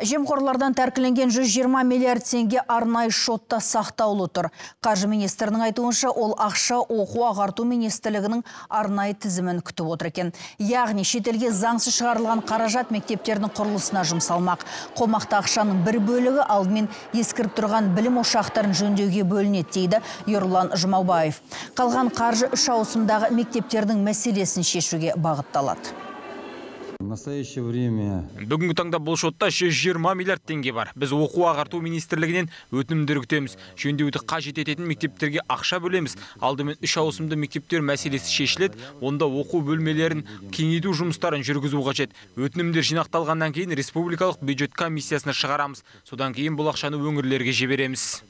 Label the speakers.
Speaker 1: Жемқорлардан тәркіленген 120 миллиард теңге арнайы шотта сақтаулы тұр. Қаржы министрінің айтуынша, ол ақша оқу ағарту министрлігінің арнайы тізімін күтіп отыр екен. Яғни шетелге заңсыз шығарылған қаражат мектептердің құрылысына жұмсалмақ. Қомақты ақшаның бір бөлігі алдымен ескіріп тұрған білім ошақтарын жөндеуге бөлінеді дейді Ерұлан Жұмабаев. Қалған қаржы 3 ауысымдағы мектептердің мәселесін шешуге бағытталады.
Speaker 2: Бүгінгі таңда бұл шотта 120 миллиард теңге бар. Біз оқу ағарту министрлігінен өтінімдер күтеміз. Жөндеуді қажет ететін мектептерге ақша бөлеміз. Алдымен 3 ауысымды мектептер мәселесі шешіледі. Онда оқу бөлмелерін кеңейту жұмыстарын жүргізу қажет. Өтінімдер жинақталғаннан кейін республикалық бюджет комиссиясына шығарамыз. Содан кейін бұл ақшаны өңірлерге жібереміз.